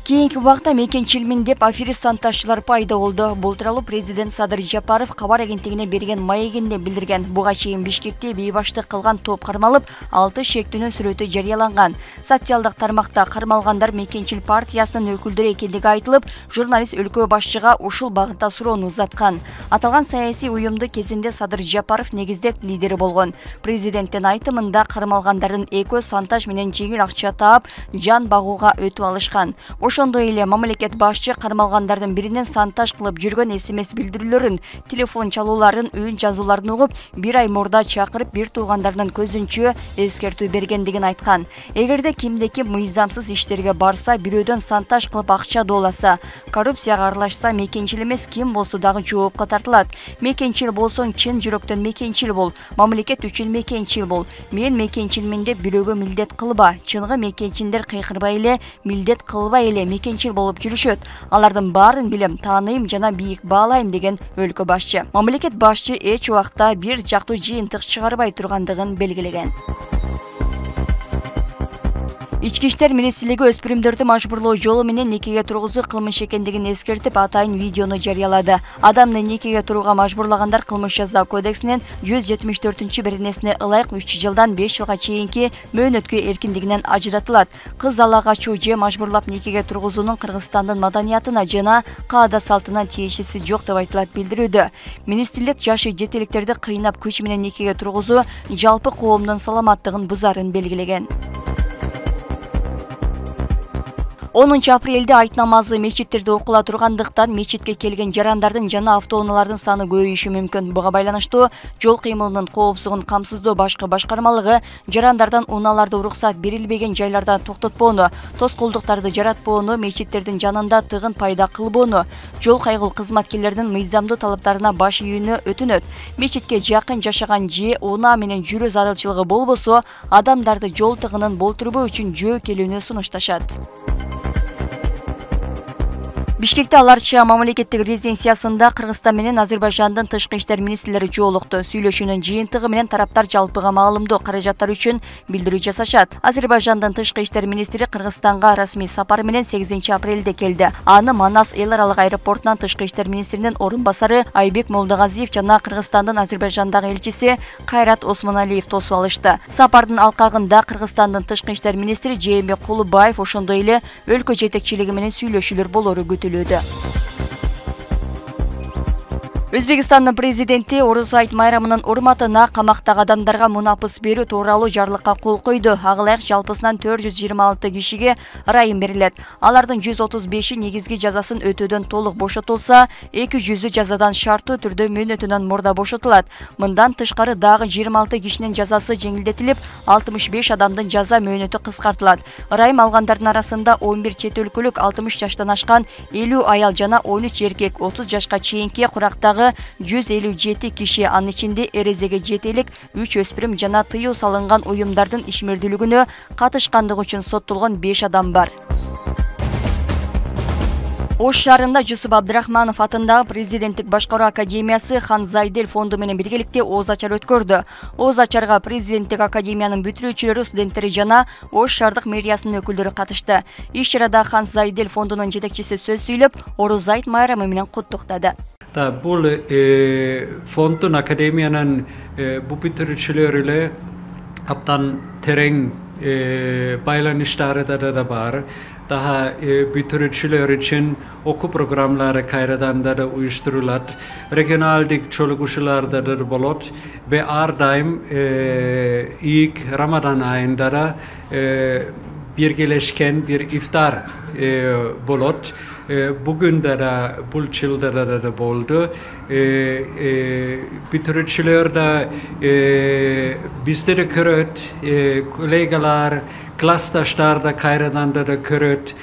Кийинки убакта мекенчилмин деп аферист санташчылар пайда болду. Бул тууралуу президент Садыр Жапаров кабар агенттигине берген маегинде билдирген. Буга чейин Бишкекте бейбаштык кылган топ кармалып, 6 шектүүнүн сүрөтү жарыяланган. Социалдык тармакта кармалгандар мекенчил партиясынын өкүлдөрү экендиги айтылып, журналист өлкө башчыга ушул багытта суроону узаткан. Аталган саясий уюмду кезинде Садыр Жапаров негиздеп лидери болгон. Президенттин айтымында кармалгандардын экөө сантаж менен жеңил акча таап, жан багууга өтүп алышкан. Ошондой эле мамлекет башчы кармалгандардын биринен сантаж кылып жүргөн СМС билдирүүлөрүн, телефон чалууларын, үн жазууларын угуп, 1 ай мурда чакырып, бир туугандарынын көзүнчө эскертүү бергендигин айткан. Эгерде кимде-ким мыйзамсыз иштерге барса, бирөөдөн сантаж кылып акча дооласа, коррупцияга аралашса, мекенчил эмес ким болсо дагы жоопко тартылат. Мекенчил болсоң, чын жүрөктөн мекенчил бол, мамлекет үчүн мекенчил бол. Мен мекенчилмин деп бирөөгө милдет кылба. Чыныгы мекенчилдер кыйкырбай эле, милдет кылбай эле мекенчил болуп жүрүшөт. Алардын баарын билем, тааныйм жана бийик баалайм деген өлкө башчы. Мамлекет башчы эч убакта бир жактуу жыйынтык чыгарбай тургандыгын белгилеген. Ички иштер министрлиги өспүрүмдөрдү мажбурлоо жолу менен никеге тургузуу кылмыш экендигин эскертип, атайын видеону жарыялады. Адамды никеге турууга мажбурлагандар кылмыш жаза кодексинин 174-беренесине ылайык 3 жылдан 5 жылга чейинки мөөнөткө эркиндигинен ажыратылат. Кыз ала качуу же мажбурлап никеге тургузуунун Кыргызстандын маданиятына жана каада салтына тиешеси жок деп айтылат билдирүүдө. Министрлик жашы жетеликтерди кыйнап күч менен никеге тургузуу жалпы коомдун саламаттыгын бузарын белгилеген. 10 апрелде айт намазы мечиттерде окула тургандыктан мечитке келген жарандардын жана автоунаалардын саны көбөйүшү мүмкүн. Буга байланыштуу жол кыймылынын коопсуздугун камсыздоо башкы башкармалыгы жарандардан унааларды уруксат берилбеген жайларда токтотпоону, тоскоолдуктарды жаратпоону, мечиттердин жанында тыгын пайда кылбоону, жол кайгыл кызматкерлеринин мыйзамдуу талаптарына баш ийүүнү өтүнөт. Мечитке жакын жашаган же унаа менен жүрүү зарылчылыгы болбосо, адамдарды жол тыгынын болтурбоо үчүн жөө келүүнү сунушташат. Бишкекте аларча мамлекеттик резиденциясында Кыргызстан менен Азербайжандын тышкы иштер министрлери жолукту. Сүйлөшүүнүн жыйынтыгы менен тараптар жалпыга маалымдоо каражаттар үчүн билдирүү жасашат. Азербайжандын тышкы иштер министри Кыргызстанга расмий сапар менен 8 апрелде келди. Аны Манас эл аралык аэропортунан тышкы иштер министринин орун басары Айбек Молдогазиев жана Кыргызстандын Азербайжандагы элчиси Кайрат Осмоналиев тосуп алышты. Сапардын алкагында Кыргызстандын тышкы иштер министри Жээнбек Кулубаев ошондой эле өлкө жетекчилиги менен сүйлөшүүлөр болору күтүлөт. Өзбекстандын президенти Орус айт майрамынын урматына камактагы адамдарга мунапыс берүү тууралуу жарлыкка кол койду. Ага ылайык жалпысынан 426 кишиге ырайым берилет. Алардын 135-и негизги жазасын өтөөдөн толук бошотулса, 200-ü жазадан шарттуу түрдө мөөнөтүнөн мурда бошотулат. Мындан тышкары дагы 26 кишинин жазасы жеңилдетилип, 65 адамдын жаза мөөнөтү кыскартылат. Ырайым алгандардын арасында 11 чет өлкөлүк 60 жаштан ашкан 50 аял жана 13 эркек, 30 жашка чейинки курактагы 157 киши, анын ичинде эрезеге жетелик 3 өспүрүм жана тыюу салынган уюмдардын ишмердүүлүгүнө катышкандыгы үчүн соттолгон 5 адам бар. Ош шаарында Жусуп Абдрахманов атындагы президенттик башкаруу академиясы Хан Зайдел фонду менен биргеликте ооз ачар өткөрдү. Ооз ачарга президенттик академиянын бүтүрүүчүлөрү, студенттери жана Ош шаардык мэриясынын өкүлдөрү катышты. Иш чарада Хан Зайдел фондунун жетекчиси сөз сүйлөп, Орус айт майрамы менен куттуктады. Бул фондун академиянын бүтүрүүчүлөрү эле абдан терең байланыштары да бар. Daha бүтүрүүчүлөр үчүн окуу программалары кайрадан да уюштурулат. Регионалдык чогулушууларда да болот. Ve ар дайым ilk Рамадан айында да биргелешкен бир ифтар болот. Bugün de bul çıldır da boldu. Bütürüçüler de bizleri köröt, kolegalar, klastaşlar da kayradan da köröt,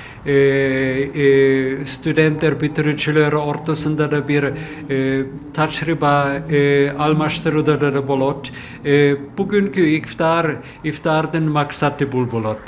studentler bütürüçüler ortasında da bir taçriba almaştırıda da bolot. Bugünkü iftarın maksatı bul bolot.